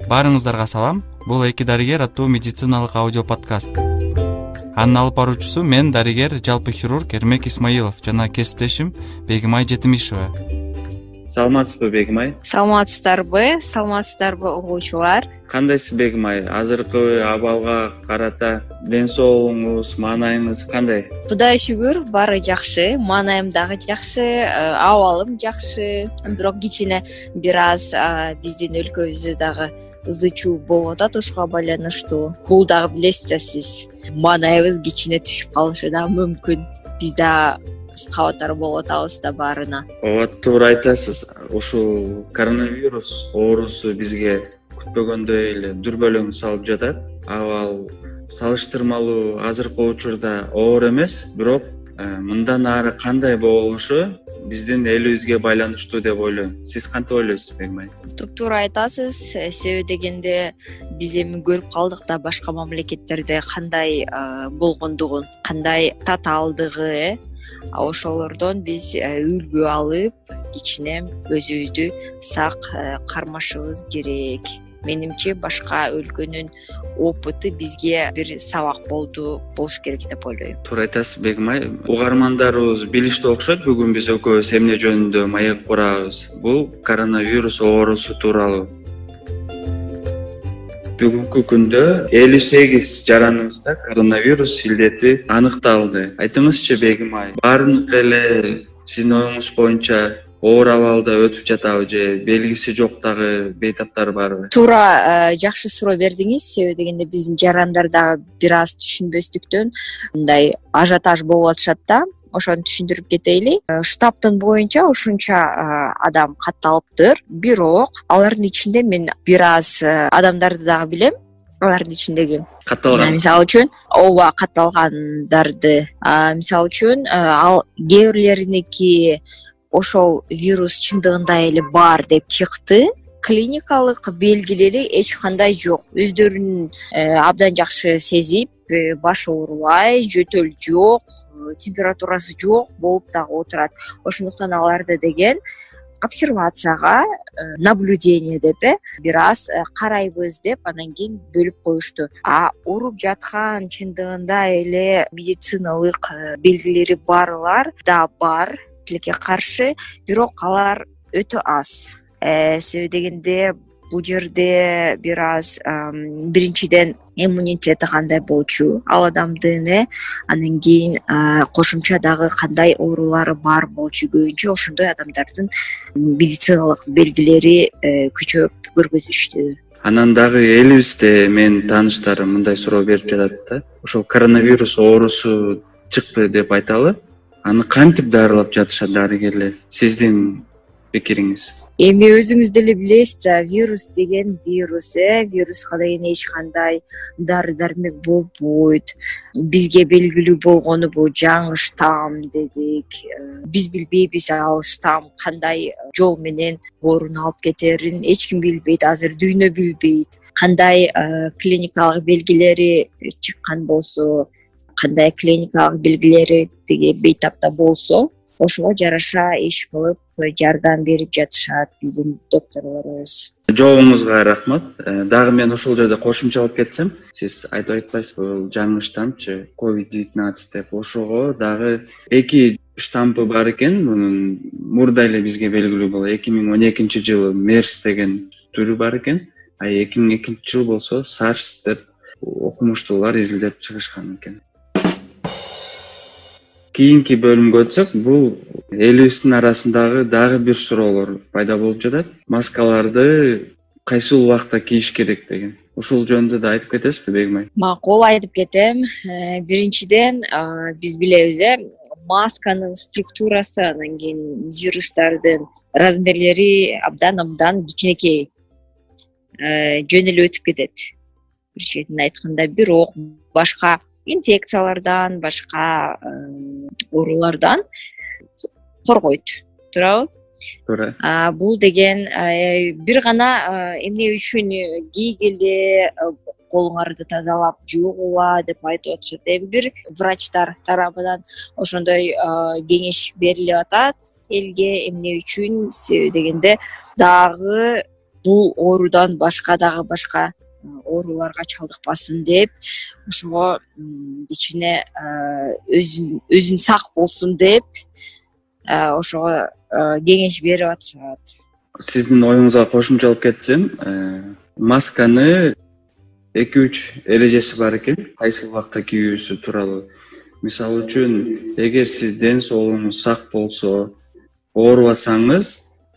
Баарыңыздарга салам. Бул «Эки дарыгер» аттуу медициналык аудио подкаст. Анын алып баруучусу мен, дарыгер, жалпы хирург Эрмек Исмаилов жана кесиптешим Бегимай Жетимишева. Саламатсызбы, Бегимай? Саламатсыздарбы угуучулар? Кандайсыз, Бегимай? Азыркы абалга карата ден соолугуңуз, маанайыңыз кандай? Кудайга шүгүр, баары жакшы. Маанайым дагы жакшы, абалым жакшы. Бирок кичине бир аз биздин өлкөбүздө дагы ызы-чуу болуп атат ушуга байланыштуу. Бул дагы билесиз да сиз. Маанайыбыз кичине түшүп калышы дагы мүмкүн. Биз да кабаттар болуп атабыз да баарына. Ооба, туура айтасыз. Ушул коронавирус оорусу бизге күтпөгөндөй эле дүрбөлөң салып жатат. Абал салыштырмалуу азыркы учурда оор эмес, бирок мындан ары кандай болушу биздин элибизге байланыштуу деп ойлойм. Сиз кантип ойлойсуз, Бегимай? Туптуура айтасыз. Себеби дегенде биз эми көрүп калдык да башка мамлекеттерде кандай болгондугун, кандай татаалдыгы. Ошолордон биз үлгү алып, кичине өзүбүздү сак кармашыбыз керек. Менимче башка өлкөнүн опыты бизге бир сабак болуш керек деп ойлойм. Туура айтасыз, Бегимай. Угармандарыбыз билиштүү окшойт. Бүгүн биз экөөбүз эмне жөнүндө маек курабыз. Бул коронавирус оорусу тууралуу. Бүгүнкү күндө 58 жараныбызда коронавирус илдети аныкталды. Айтыңызчы, Бегимай, баардык эле сиздин оюңуз боюнча оор абалда өтүп жатабы же белгиси жок дагы бейтаптар барбы? Туура, жакшы суроо бердиңиз. Себеби дегенде биздин жарандар дагы бир аз түшүнбөстүктөн мындай ажиотаж болуп атышат да. Ошону түшүндүрүп кетейли. Штабтын боюнча ушунча адам катталыптыр. Бирок алардын ичинде мен бир аз адамдарды дагы билем. Алардын ичиндеги катталган. Мисалы үчүн, ооба, катталгандарды. Мисалы үчүн, ал кээ бирлериники ошол вирус чындыгында эле бар деп чыкты. Клиникалык белгилери эч кандай жок. Өздөрүн абдан жакшы сезип, башы оорубай, жөтөл жок, температурасы жок болуп дагы отурат. Ошондуктан аларды деген обсервацияга, наблюдение деп бир аз карайбыз деп анан кийин бөлүп коюшту. Ооруп жаткан чындыгында эле медициналык белгилери барлар да бар тилекке каршы, бирок алар өтө аз. Себеби дегенде бул жерде бир аз биринчиден иммунитети кандай болчу ал адамдын, анан кийин кошумча дагы кандай оорулары бар болчу. Көбүнчө ошондой адамдардын медициналык белгилери күчөп көргөзүштү. Анан дагы элибизде менин тааныштарым мындай суроо берип жатат да. Ошол коронавирус оорусу чыкты деп айталы. Аны кантип дарылап жатышат дарыгерлер? Сиздин пикириңиз? Эми өзүңүз деле билесиз да, вирус деген вируска деген эч кандай дары-дармек болбойт. Бизге белгилүү болгону бул жаңы штамм дедик. Биз билбейбиз ал штамм кандай жол менен ооруну алып кетерин эч ким билбейт, азыр дүйнө билбейт. Кандай клиникалык белгилери чыккан болсо, кандай клиникалык белгилери тиги бейтапта болсо, ошого жараша иш кылып жардам берип жатышат биздин докторлорубуз. Жообуңузга рахмат. Дагы мен ошол жерде кошумчалап кетсем, сиз айтып атпайсызбы, бул жаңы штаммчы COVID-19 деп. Ошого дагы 2 штампы бар экен. Мунун мурда эле бизге белгилүү болду. 2012-жылы MERS деген түрү бар экен. 2002-жыл болсо SARS деп окумуштуулар изилдеп чыгышкан экен. Кийинки бөлүмгө өтсөк, бул элибиздин арасындагы дагы бир суроолор пайда болуп жатат. Маскаларды кайсы убакта кийиш керек деген. Ушул жөнүндө да айтып кетесизби, Бегимай? Макул, айтып кетем. Биринчиден биз билебиз, масканын структурасы, анан кийин вирустардын размерлери абдан кичинекей. Жөн эле өтүп кетет. Бир четинен айтканда, бирок башка инфекциялардан, башка оорулардан коргойт. Туурабы? Туура. Бул деген бир гана эмне үчүн кийгиле, колуңарды тазалап жуугула деп айтып атышат. Бир врачтар тарабынан ошондой кеңеш берилип атат элге, эмне үчүн дегенде дагы бул оорудан башка дагы башка ооруларга чалдыкпасын деп ошого кичине өзүн сак болсун деп ошого кеңеш берип атышат. Сиздин оюңузга кошумчалап кетсем, масканы 2-3 эрежеси бар экен, кайсы убакта кийүүсү тууралуу. Мисалы үчүн, эгер сиз ден соолугуңуз сак болсо, оорубасаңыз,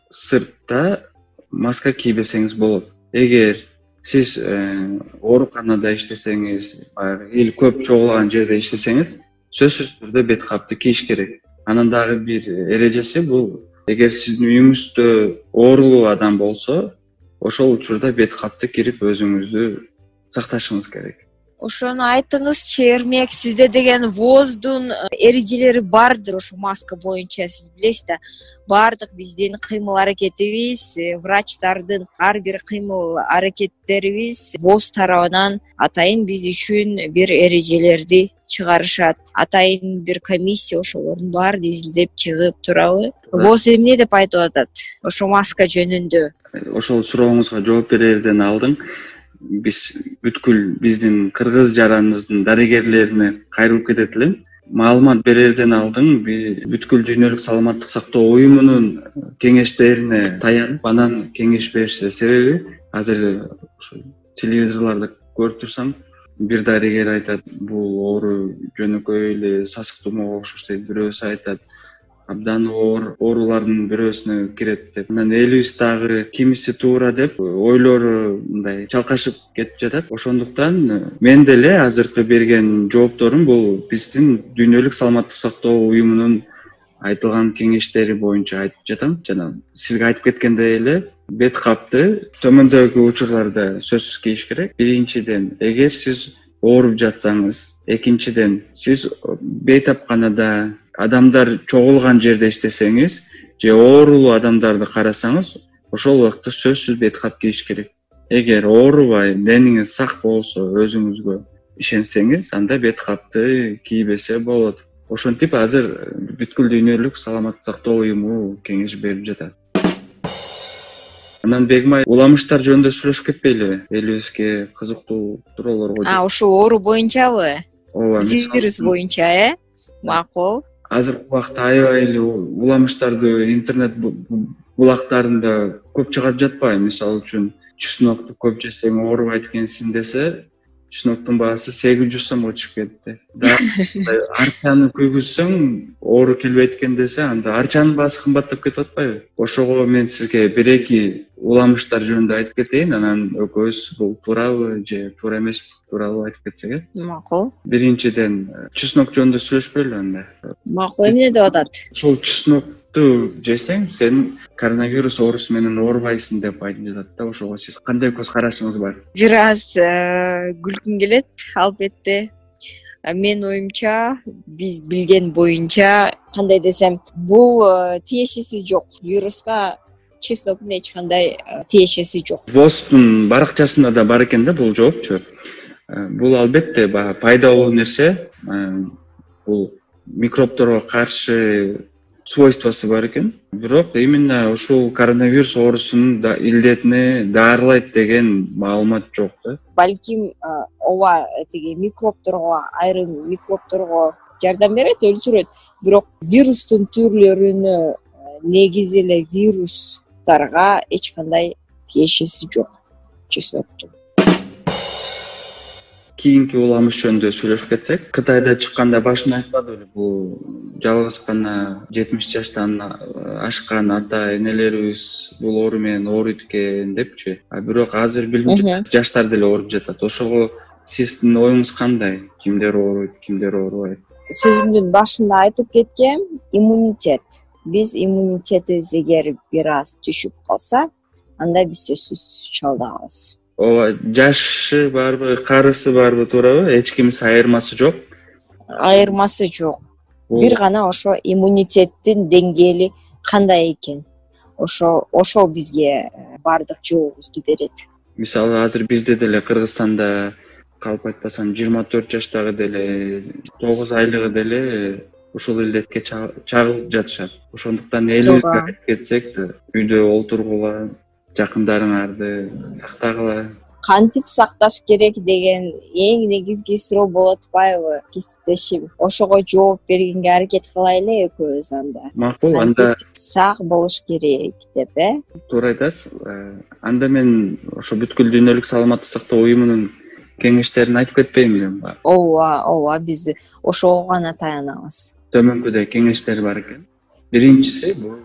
сыртта маска кийбесеңиз болот. Эгер сиз ооруканада иштесеңиз, или көп чогулган жерде иштесеңиз, сөзсүз түрдө бет капты кийиш керек. Анан дагы бир эрежеси бул, эгер сиздин үйүңүздө оорулуу адам болсо, ошол учурда бет капты кирип өзүңүздү сакташыңыз керек. Ошону айтыңызчы, Эрмек, сизде деген ВОЗдун эрежелери бардыр ошо маска боюнча, сиз билесиз да. Бардык биздин кыймыл аракетибиз, врачтардын ар бир кыймыл аракеттерибиз ВОЗ тарабынан атайын биз үчүн бир эрежелерди чыгарышат. Атайын бир комиссия ошолордун баарын изилдеп чыгып турабы? ВОЗ эмне деп айтып атат ошо маска жөнүндө? Ошол сурооңузга жооп берерден алдын биз бүткүл биздин кыргыз жараныбыздын дарыгерлерине кайрылып кетет элем. Маалымат берерден алдын бүткүл дүйнөлүк саламаттык сактоо уюмунун кеңештерине таянып, анан кеңеш беришсе, себеби азыр ошо телевизорлордо көрүп турсаң, бир дарыгер айтат, бул оору жөнөкөй эле сасык тумоого окшош дейт, бирөөсү айтат, абдан оорулардын бирөөсүнө кирет деп. Анан элибиз дагы кимиси туура деп ойлору мындай чалкашып кетип жатат. Ошондуктан мен деле азыркы берген жоопторум бул биздин дүйнөлүк саламаттык сактоо уюмунун айтылган кеңештери боюнча айтып жатам. Жана сизге айтып кеткендей эле, бет капты төмөндөгү учурларда сөзсүз кийиш керек. Биринчиден, эгер сиз ооруп жатсаңыз, экинчиден, сиз бейтапканада адамдар чогулган жерде иштесеңиз же оорулуу адамдарды карасаңыз, ошол убакта сөзсүз бет кап кийиш керек. Эгер оорубай, дениңиз сак болсо, өзүңүзгө ишенсеңиз, анда бет капты кийбесе болот. Ошентип азыр бүткүл дүйнөлүк саламаттык сактоо уюму кеңеш берип жатат. Анан Бегимай, уламыштар жөнүндө сүйлөшүп кетпейлиби? Элибизге кызыктуу суроолорго. Ошо оору боюнчабы? Ооба, вирус боюнча, Макул. Азыркы убакта аябай эле уламыштарды интернет булактарында көп чыгарып жатпайбы? Мисалы үчүн, чеснокту көп жесең оорубайт экенсиң десе, чесноктун баасы 800 сомго чыгып кетти. Арчаны күйгүзсөң оору келбейт экен десе, анда арчанын баасы кымбаттап кетип атпайбы? Ошого мен сизге 1-2 уламыштар жөнүндө айтып кетейин, анан экөөбүз бул туурабы же туура эмеспи тууралуу айтып кетсек. Макул. Биринчиден, чеснок жөнүндө сүйлөшпөйлү анда. Макул, эмне деп атат? Ошол чеснокту жесең, сен коронавирус оорусу менен оорубайсың деп айтып жатат да. Ошого сиз кандай көз карашыңыз бар? Бир аз күлкүм келет, албетте. Мен оюмча, биз билген боюнча, кандай десем, бул тиешеси жок. Вируска чесноктун эч кандай тиешеси жок. ВОЗдун баракчасында да бар экен да бул жоопчу. Бул албетте пайдалуу нерсе. Бул микробторго каршы свойствосы бар экен. Бирок именно ушул коронавирус оорусунун илдетине даарылайт деген маалымат жок да. Балким ооба тиги микробторго, айрым микробторго жардам берет, өлчүрөт. Бирок вирустун түрлөрүнө негизи эле вирустарга эч кандай тиешеси жок чесноктун. Кийинки уламыш жөнүндө сүйлөшүп кетсек, Кытайда чыкканда башында айтпады беле, бул жалгыз гана 70 жаштан ашкан ата энелерибиз бул оору менен ооруйт экен депчи. Бирок азыр билим жаштар деле ооруп жатат. Ошого сиздин оюңуз кандай? Кимдер ооруйт, кимдер оорубайт? Сөзүмдүн башында айтып кеткем, иммунитет. Биз иммунитетибиз эгер бир аз түшүп калса, анда биз сөзсүз чалдыгабыз. Ооба, жашы барбы, карысы барбы, туурабы? Эч кимиси айырмасы жок? Айырмасы жок. Бир гана ошо иммунитеттин деңгээли кандай экен. Ошол бизге бардык жообубузду берет. Мисалы, азыр бизде деле Кыргызстанда калп айтпасам 24 жаштагы деле 9 айлыгы деле ушул илдетке чагылып жатышат. Ошондуктан элибизге айтып кетсек да, үйдө олтургула, жакындарыңарды сактагыла. Кантип сакташ керек деген эң негизги суроо болуп атпайбы кесиптешим? Ошого жооп бергенге аракет кылайлы экөөбүз анда. Макул, анда сак болуш керек деп, туура айтасыз. Анда мен ошо бүткүл дүйнөлүк саламаттык сактоо уюмунун кеңештерин айтып кетпейм белем. Ооба, биз ошого гана таянабыз. Төмөнкүдө кеңештер бар экен. Биринчиси бул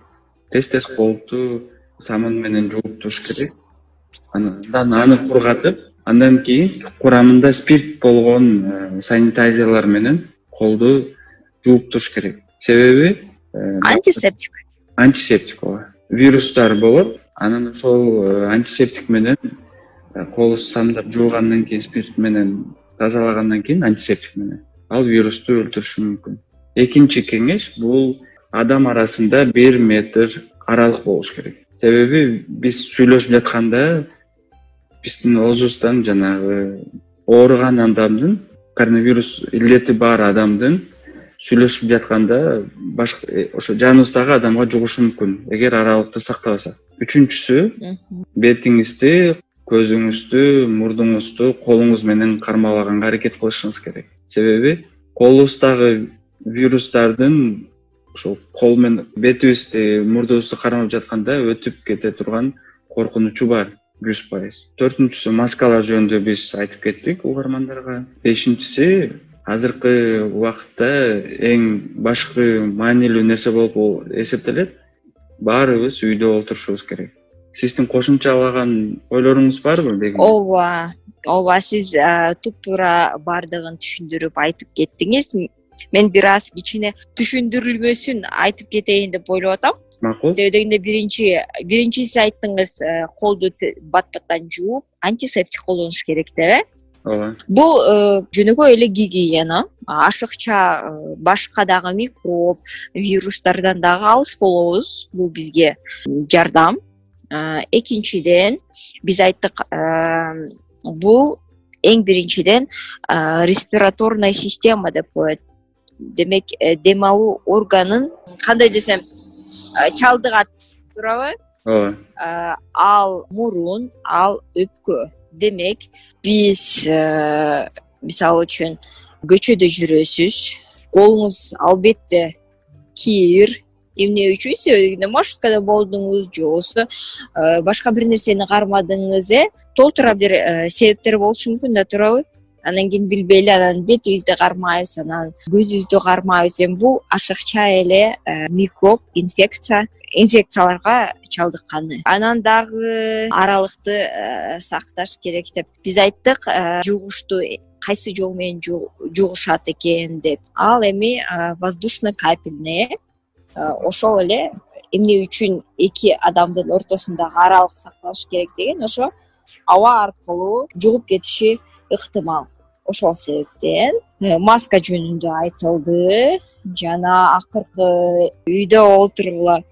тез колду самын менен жууп туруш керек. Андан аны кургатып, андан кийин курамында спирт болгон санитайзерлер менен колду жууп туруш керек. Себеби антисептик ооба. Вирустар болот, анан ошол антисептик менен колду самдап жуугандан кийин, спирт менен тазалагандан кийин антисептик менен ал вирусту өлтүрүшү мүмкүн. Экинчи кеңеш бул адам арасында 1 метр аралык болуш керек. Себеби биз сүйлөшүп жатканда биздин оозубуздан жанагы ооруган адамдын, коронавирус илдети бар адамдын сүйлөшүп жатканда башка ошо жаныбыздагы адамга жугушу мүмкүн, эгер аралыкты сактабасак. Үчүнчүсү, бетиңизди, көзүңүздү, мурдуңузду колуңуз менен кармалаганга аракет кылышыңыз керек. Себеби колубуздагы вирустардын ошо кол менен бетибизди, мурдубузду кармап жатканда өтүп кете турган коркунучу бар 100%. Төртүнчүсү, маскалар жөнүндө биз айтып кеттик угармандарга. Бешинчиси, азыркы убакытта эң башкы маанилүү нерсе болуп эсептелет, баарыбыз үйдө олтурушубуз керек. Сиздин кошумчалаган ойлоруңуз барбы? Ооба, сиз туп-туура бардыгын түшүндүрүп айтып кеттиңиз. Мен бир аз кичине түшүндүрүлмөсүн айтып кетейин деп ойлоп атам. Макул. Себеби дегенде биринчиси айттыңыз, колду бат-баттан жууп, антисептик колдонуш керек деп, Ооба. Бул жөнөкөй эле гигиена. Ашыкча башка дагы микроб, вирустардан дагы алыс болобуз. Бул бизге жардам. Экинчиден, биз айттык, бул эң биринчиден респираторная система деп коет. Демек, дем алуу органын, кандай десем, чалдыгат, туурабы? Ооба. Ал мурун, ал өпкө. Демек, биз мисалы үчүн көчөдө жүрөсүз, колуңуз албетте кир, эмне үчүн? Себеби маршруткада болдуңуз, же болбосо башка бир нерсени кармадыңыз, толтура бир себептер болушу мүмкүн да, туурабы? Анан кийин билбейли, анан бетибизди кармайбыз, анан көзүбүздү кармайбыз. Бул ашыкча эле микроб, инфекцияларга чалдыкканы. Анан дагы аралыкты сакташ керек деп биз айттык. Жугушту кайсы жол менен жугушат экен деп. Ал эми воздушно-капельный. Ошол эле эмне үчүн эки адамдын ортосундагы аралык сакталыш керек деген, ошо аба аркылуу жугуп кетиши ыктымал. Ошол себептен маска жөнүндө айтылды. Жана акыркы үйдө олтургула.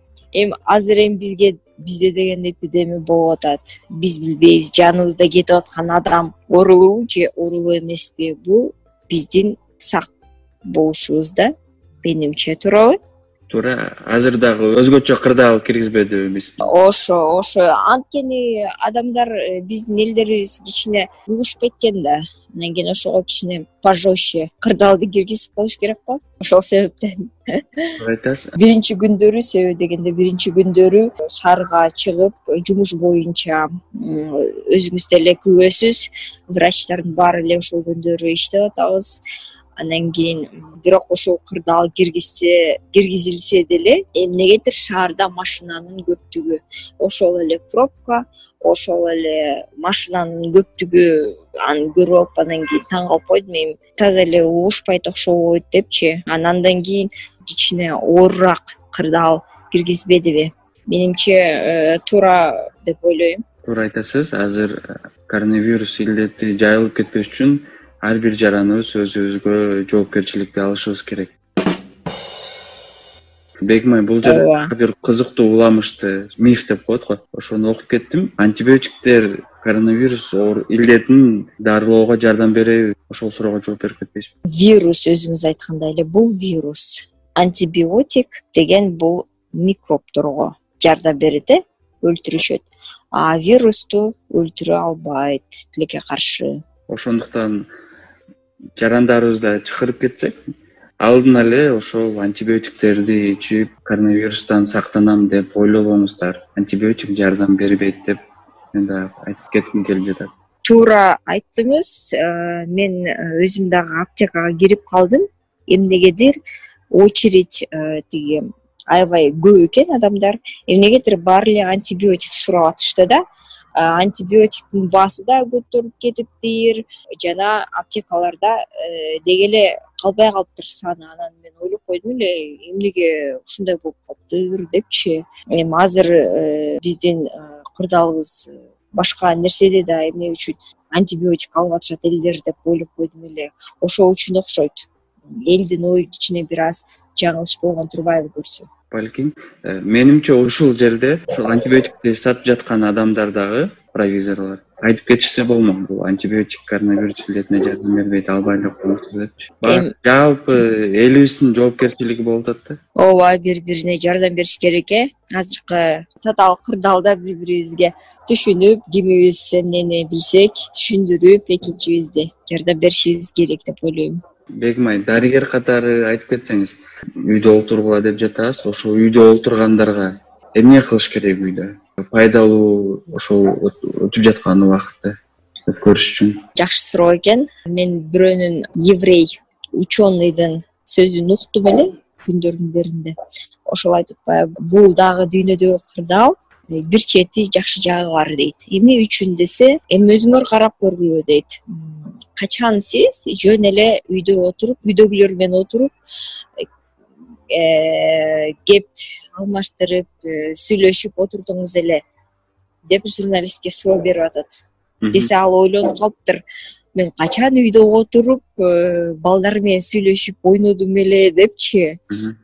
Азыр бизде деген эпидемия болуп атат. Биз билбейбиз, жаныбызда кетип аткан адам оорулуубу же оорулуу эмеспи. Бул биздин сак болушубузда, менимче, туурабы? Туура. Азыр дагы өзгөчө кырдаал киргизбедиби биз? Ошо. Анткени адамдар, биздин элдерибиз кичине угушуп кеткен да. Анан кийин ошого кичине пожестче кырдаалды киргизип коюш керек го. Ошол себептен. Айтасыз. Биринчи күндөрү, себеби дегенде биринчи күндөрү шаарга чыгып, жумуш боюнча өзүңүз деле күбөсүз. Врачтардын баары эле ошол күндөрү иштеп атабыз. Анан кийин бирок ошол кырдаал киргизилсе деле, эмнегедир шаарда машинанын көптүгү, ошол эле пробка, ошол эле машинанын көптүгү аны көрүп алып, анан кийин таң калып койдум, эми таза эле угушпайт окшойт депчи. Андан кийин кичине оорураак кырдаал киргизбедиби? Менимче туура деп ойлойм. Туура айтасыз. Азыр коронавирус илдети жайылып кетпеш үчүн ар бир жараныбыз өзүбүзгө жоопкерчиликти алышыбыз керек. Бегимай, бул жерде бир кызыктуу уламышты, миф деп коет го. Ошону окуп кеттим. Антибиотиктер коронавирус илдетин дарылоого жардам береби? Ошол суроого жооп берип кетпейсизби? Вирус, өзүңүз айткандай эле, бул вирус. Антибиотик деген бул микробторго жардам берет, өлтүрүшөт. а вирусту өлтүрө албайт тилекке каршы. Ошондуктан жарандарыбызды чакырып кетсек, алдын эле ошол антибиотиктерди ичип коронавирустан сактанам деп ойлобоңуздар. Антибиотик жардам бербейт деп мен да айтып кетким келип жатат. Туура айттыңыз. Мен өзүм дагы аптекага кирип калдым. Эмнегедир очередь тиги аябай көп экен адамдар. Эмнегедир баары эле антибиотик сурап атышты да. Антибиотиктин баасы да көтөрүлүп кетиптир. Жана аптекаларда деги эле калбай калыптыр саны. Анан мен ойлоп койдум эле, эмнеге ушундай болуп калыптыр депчи. Эми азыр биздин кырдаалыбыз башка нерседе да эмне үчүн антибиотик алып атышат элдер деп ойлоп койдум эле. Ошол үчүн окшойт. Элдин ой ичине бир аз жаңылыш болгон турбайбы көрсөм. Балким, менимче ушул жерде ушул антибиотикти сатып жаткан адамдар дагы, провизорлор айтып кетишсе болмок, бул антибиотик коронавирус илетине жардам бербейт, албай эле коюңуздар депчи. Жалпы элибиздин жоопкерчилиги болуп атат да. Ооба, бири-бирине жардам бериш керек. Азыркы татаал кырдаалда бири-бирибизге түшүнүп, кимибиз эмнени билсек түшүндүрүп, экинчибизди жардам беришибиз керек деп ойлойм. Бегим айым, дарыгер катары айтып кетсеңиз, үйдө олтургула деп жатабыз. Ошо үйдө олтургандарга эмне кылыш керек үйдө? Пайдалуу ошол өтүп жаткан убакытты өткөрүш үчүн. Жакшы суроо экен. Мен бирөөнүн еврей ученыйдын сөзүн уктум эле күндөрдүн биринде. Ошол айтып атпайбы, бул дагы дүйнөдөгү кырдаал, бир чети жакшы жагы бар дейт. Эмне үчүн десе, эми өзүңөр карап көргүлө дейт. Качан сиз жөн эле үйдө отуруп, үйдөгүлөр менен отуруп кеп алмаштырып, сүйлөшүп отурдуңуз эле деп журналистке суроо берип атат. Десе ал ойлонуп калыптыр. Мен качан үйдө отуруп, балдар менен сүйлөшүп ойнодум эле депчи.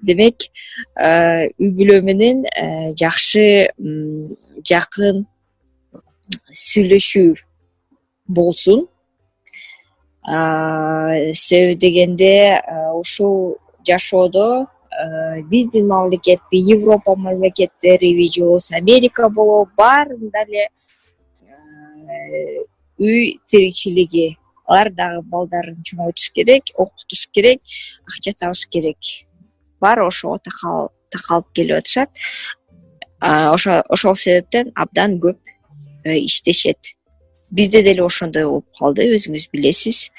Демек, үй бүлө менен жакшы, жакын сүйлөшүү болсун. Себеби дегенде ушул жашоодо биздин мамлекетпи, Европа мамлекеттериби же болбосо Америка болобу, баарында эле үй тиричилиги. Алар дагы балдарын чоңойтуш керек, окутуш керек, акча табыш керек. Баары ошого такалып келип атышат. Ошол себептен абдан көп иштешет. Бизде деле ошондой болуп калды, өзүңүз билесиз.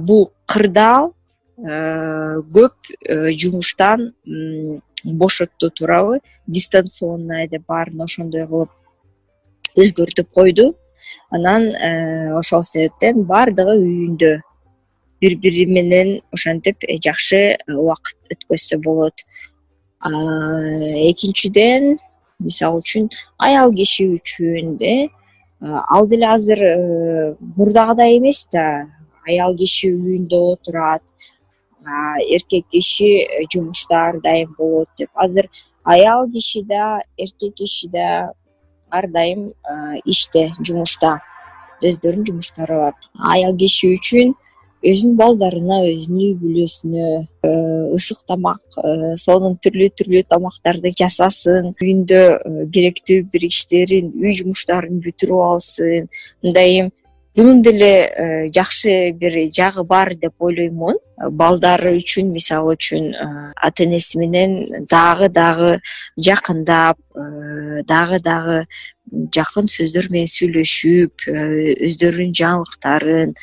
Бул кырдаал көп жумуштан бошотту, туурабы? Дистанционный деп баарын ошондой кылып өзгөртүп койду. Анан ошол себептен баардыгы үйүндө бири-бири менен ошентип жакшы убакыт өткөзсө болот. Экинчиден, мисалы үчүн, аял киши үчүн ал деле азыр мурдагыдай эмес да. Аял киши үйүндө отурат, эркек киши жумушта ар дайым болот деп. Азыр аял киши да, эркек киши да ар дайым иште, жумушта. Өздөрүнүн жумуштары бар. Аял киши үчүн өзүнүн балдарына, өзүнүн үй бүлөсүнө ысык тамак, сонун түрлүү тамактарды жасасын, үйүндө керектүү бир иштерин, үй жумуштарын бүтүрүп алсын. Мындай бунун деле жакшы бир жагы бар деп ойлоймун. Балдары үчүн, мисалы үчүн, ата энеси менен дагы жакындап, дагы жакын сөздөр менен сүйлөшүп, өздөрүнүн жаңылыктарын,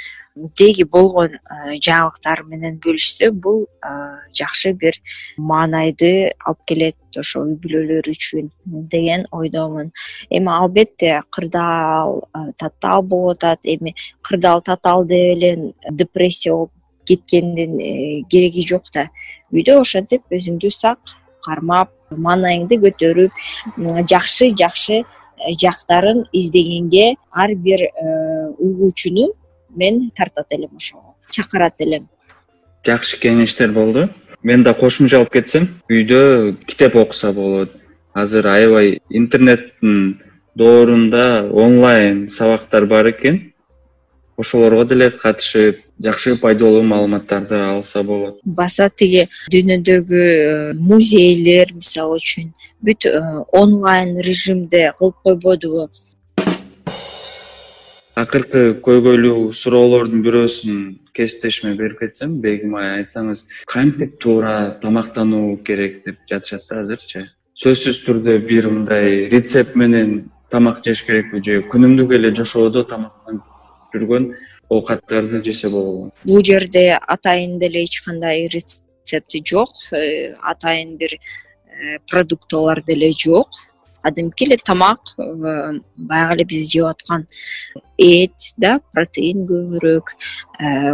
деги болгон жаңылыктары менен бөлүшсө, бул жакшы бир маанайды алып келет ошол үй бүлөлөр үчүн деген ойдомун. Эми албетте кырдаал татаал болуп атат. Эми кырдаал татаал деп эле депрессия болуп кеткендин кереги жок да. Үйдө ошентип өзүңдү сак кармап, маанайыңды көтөрүп, жакшы жактарын издегенге ар бир угуучуну мен тартат элем, ошого чакырат элем. Жакшы кеңештер болду. Мен да кошумчалап кетсем, үйдө китеп окуса болот. Азыр аябай интернеттин доорунда онлайн сабактар бар экен. ошолорго деле катышып жакшы пайдалуу маалыматтарды алса болот. Баса тиги дүйнөдөгү музейлер мисалы үчүн бүт онлайн режимде кылып койбодубу? Акыркы көйгөйлүү суроолордун бирөөсүн кесиптешиме берип кетсем, Бегим ай, айтсаңыз кантип туура тамактануу керек деп жатышат да азырчы. Сөзсүз түрдө бир мындай рецепт менен тамак жеш керекпи же күнүмдүк эле жашоодо тамактанып жүргөн оокаттарды жесе болобу? Бул жерде атайын деле эч кандай рецепти жок, атайын бир продуктылар деле жок. Кадимки эле тамак, баягы эле биз жеп аткан эт да, протеин көбүрөөк,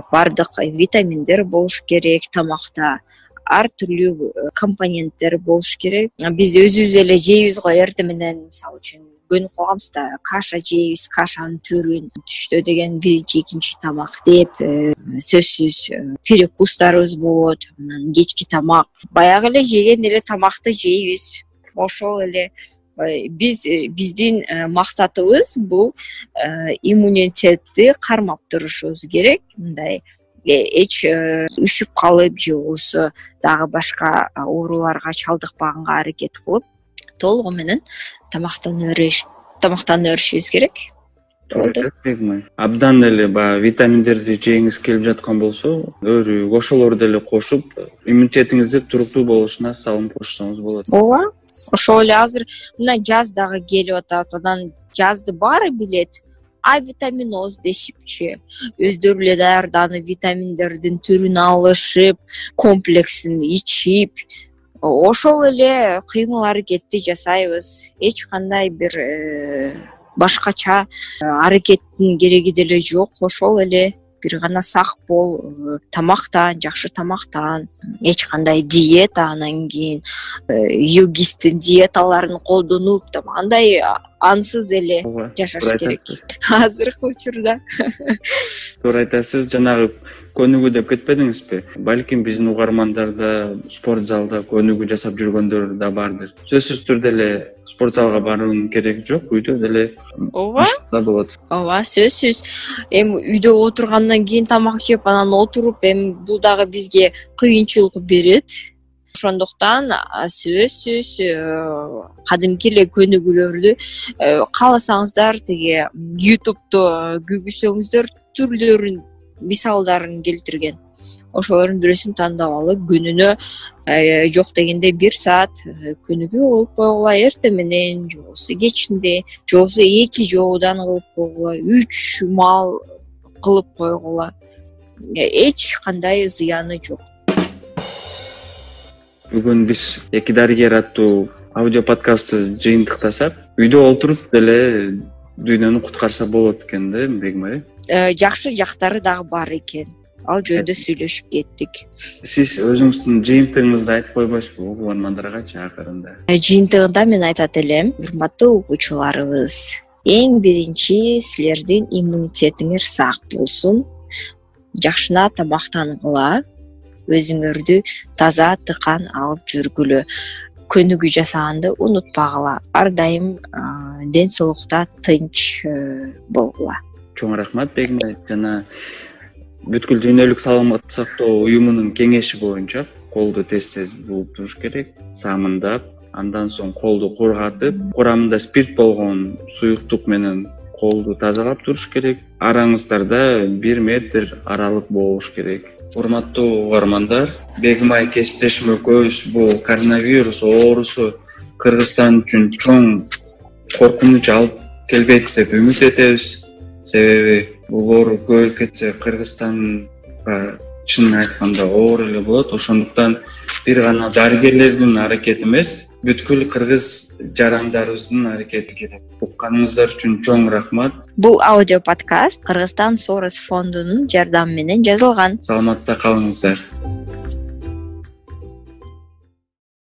бардык витаминдер болуш керек тамакта, ар түрлүү компоненттер болуш керек. Биз өзүбүз эле жейбиз го эртең менен, мисалы үчүн көнүп калганбыз да, каша жейбиз, кашанын түрүн түштө деген биринчи, экинчи тамак деп, сөзсүз перекустарыбыз болот, анан кечки тамак, баягы эле жеген эле тамакты жейбиз. Ошол эле биздин максатыбыз бул иммунитетти кармап турушубуз керек. Мындай эч үшүп калып же болбосо дагы башка ооруларга чалдыкпаганга аракет кылып, толугу менен тамактанып беришибиз керек. Абдан эле баягы витаминдерди жегиңиз келип жаткан болсо, өрүк, ошолорду деле кошуп, иммунитетиңизди туруктуу болушуна салым кошсоңуз болот. Ооба. Ошол эле азыр мына жаз дагы келип атат, анан жазды баары билет. Витаминоз дешипчи, өздөрү эле даярданып, витаминдердин түрүн алышып, комплексин ичип, ошол эле кыймыл аракетти жасайбыз. Эч кандай бир башкача аракеттин кереги деле жок. Ошол эле бир гана сак бол, тамактан, жакшы тамактан, эч кандай диета, анан кийин йогисттин диеталарын колдонуп, андай ансыз эле жашаш керек азыркы учурда. Туура айтасыз, жанагы көнүгүү деп кетпедиңизби? Балким биздин угармандар да спорт залда көнүгүү жасап жүргөндөр да бардыр. Сөзсүз түрдө эле спорт залга баруунун кереги жок, үйдө деле болот. Ооба, сөзсүз. Эми үйдө отургандан кийин тамак жеп, анан отуруп, эми бул дагы бизге кыйынчылык берет. Ошондуктан сөзсүз кадимки эле көнүгүүлөрдү кааласаңыздар тиги YouTube'то күгүсөңүздөр түрлөрүн, мисалдарын келтирген. Ошолордун бирөөсүн тандап алып, күнүнө жок дегенде 1 саат көнүгүү кылып койгула, эртең менен же болбосо кечинде, же болбосо 2 жолудан кылып койгула, 3 маал кылып койгула. Эч кандай зыяны жок. Бүгүн биз эки дарыгер аттуу аудио подкастты жыйынтыктасак, үйдө отуруп деле дүйнөнү куткарса болот экен да, Бегим ай. Жакшы жактары дагы бар экен. Ал жөнүндө сүйлөшүп кеттик. Сиз өзүңүздүн жыйынтыгыңызды айтып койбойсузбу угармандаргачы акырында? Жыйынтыгында мен айтат элем, урматтуу угуучуларыбыз, эң биринчи силердин иммунитетиңер сак болсун, жакшына тамактангыла, өзүңөрдү таза тыкан алып жүргүлө, көнүгүү жасаганды унутпагыла, ар дайым ден соолукта тынч болгула. Чоң рахмат Бегим ай. Жана бүткүл дүйнөлүк саламаттык сактоо уюмунун кеңеши боюнча колду тез-тез жууп туруш керек, самындап, андан соң колду кургатып, курамында спирт болгон суюктук менен колду тазалап туруш керек. Араңыздарда 1 метр аралык болуш керек. Урматтуу угармандар, Бегим ай кесиптешим экөөбүз бул коронавирус оорусу Кыргызстан үчүн чоң коркунуч алып келбейт деп үмүт этебиз. Себеби бул оору көбөйүп кетсе Кыргызстанга чынын айтканда оор эле болот. Ошондуктан бир гана дарыгерлердин аракети эмес, бүткүл кыргыз жарандарыбыздын аракети керек. Укканыңыздар үчүн чоң рахмат. Бул аудио подкаст Кыргызстан Сорос фондунун жардамы менен жазылган. Саламатта калыңыздар.